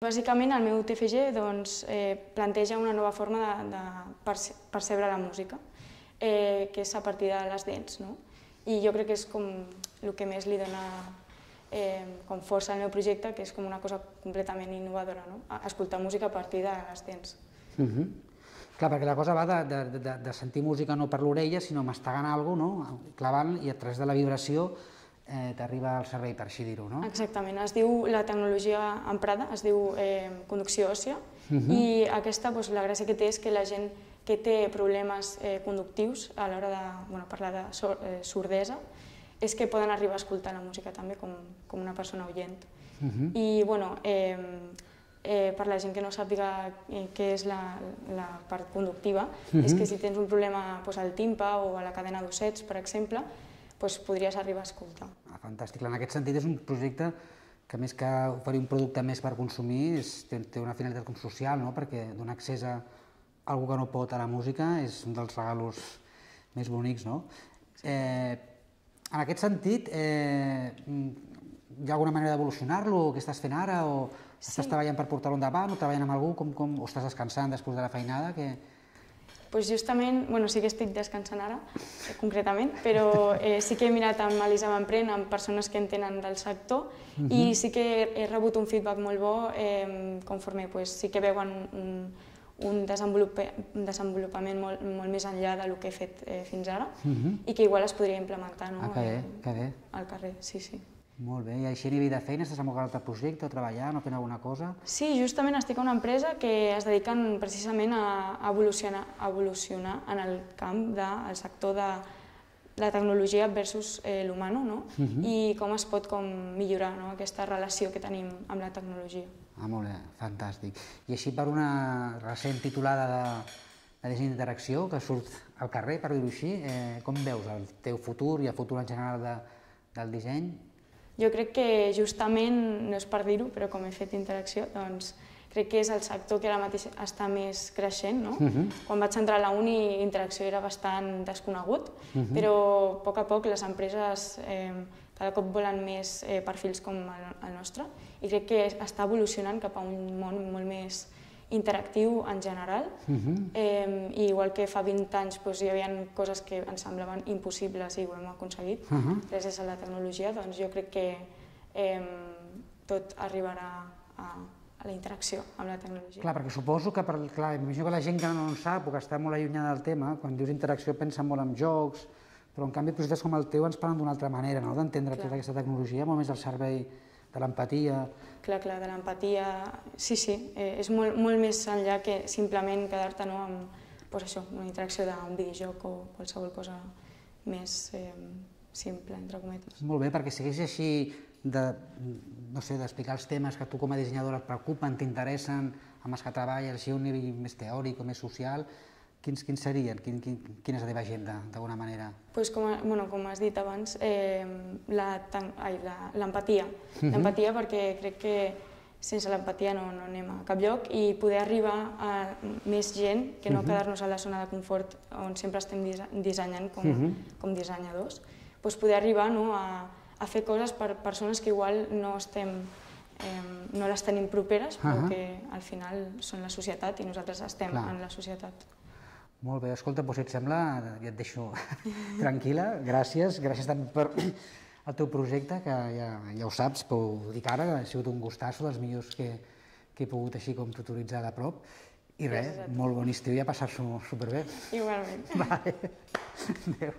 Bàsicament, el meu TFG planteja una nova forma de percebre la música, que és a partir de les dents. I jo crec que és com el que més li dona força al meu projecte, que és com una cosa completament innovadora, escoltar música a partir de les dents. Clar, perquè la cosa va de sentir música no per l'orella, sinó mastegant alguna cosa, clavant, i a través de la vibració t'arriba al cervell, per així dir-ho, no? Exactament. Es diu, la tecnologia emprada es diu conducció òssia, i aquesta, la gràcia que té és que la gent que té problemes conductius a l'hora de parlar de sordesa és que poden arribar a escoltar la música també com una persona oient. I, per la gent que no sàpiga què és la part conductiva, és que si tens un problema al timpa o a la cadena d'ossets, per exemple, podries arribar a escoltar. Fantàstic. En aquest sentit és un projecte que, més que oferir un producte més per consumir, té una finalitat com social, perquè donar accés a algú que no pot a la música és un dels regalos més bonics. En aquest sentit, hi ha alguna manera d'evolucionar-lo? Què estàs fent ara? O estàs treballant per portar-lo endavant? O treballant amb algú? O estàs descansant després de la feinada? Justament, sí que estic descansant ara, concretament, però sí que he mirat amb Elisa M'Emprèn, amb persones que entenen del sector, i sí que he rebut un feedback molt bo conforme sí que veuen un desenvolupament molt més enllà del que he fet fins ara i que igual es podria implementar al carrer. Sí. Molt bé, i així a nivell de feina estàs en algun altre projecte, treballant o fent alguna cosa? Sí, justament estic a una empresa que es dediquen precisament a evolucionar en el camp del sector de la tecnologia versus l'humano, i com es pot millorar aquesta relació que tenim amb la tecnologia. Molt bé, fantàstic. I així per una recent titulada de disseny d'interacció que surt al carrer, per dir-ho així, com veus el teu futur i el futur en general del disseny? Jo crec que justament, no és per dir-ho, però com he fet interacció, doncs crec que és el sector que ara mateix està més creixent. Quan vaig entrar a la uni, interacció era bastant desconegut, però a poc les empreses cada cop volen més perfils com el nostre, i crec que està evolucionant cap a un món molt més interactiu en general, i igual que fa 20 anys hi havia coses que ens semblaven impossibles i ho hem aconseguit gràcies a la tecnologia, doncs jo crec que tot arribarà a la interacció amb la tecnologia. Clar, perquè suposo que, imagino que la gent que no en sap o que està molt allunyada del tema, quan dius interacció pensa molt en jocs, però en canvi projectes com el teu ens parlen d'una altra manera, d'entendre tota aquesta tecnologia, molt més al servei de l'empatia. Clar, de l'empatia, sí, és molt més enllà que simplement quedar-te amb una interacció d'un videojoc o qualsevol cosa més simple, entre cometes. Molt bé, perquè segueix així d'explicar els temes que a tu com a dissenyadora et preocupen, t'interessen, amb els que treballes, així a un nivell més teòric o més social. Quins serien? Quina és la teva agenda, d'alguna manera? Com has dit abans, l'empatia. L'empatia perquè crec que sense l'empatia no anem a cap lloc, i poder arribar a més gent, que no quedar-nos a la zona de confort on sempre estem dissenyant com dissenyadors, poder arribar a fer coses per persones que igual no les tenim properes, però que al final són la societat i nosaltres estem en la societat. Molt bé, escolta, si et sembla, ja et deixo tranquil·la. Gràcies tant per el teu projecte, que ja ho saps, però ho dic ara, ha sigut un gustasso, dels millors que he pogut així com tutoritzar de prop. I res, molt bon estiu i a passar-s'ho superbé. Igualment. Adéu.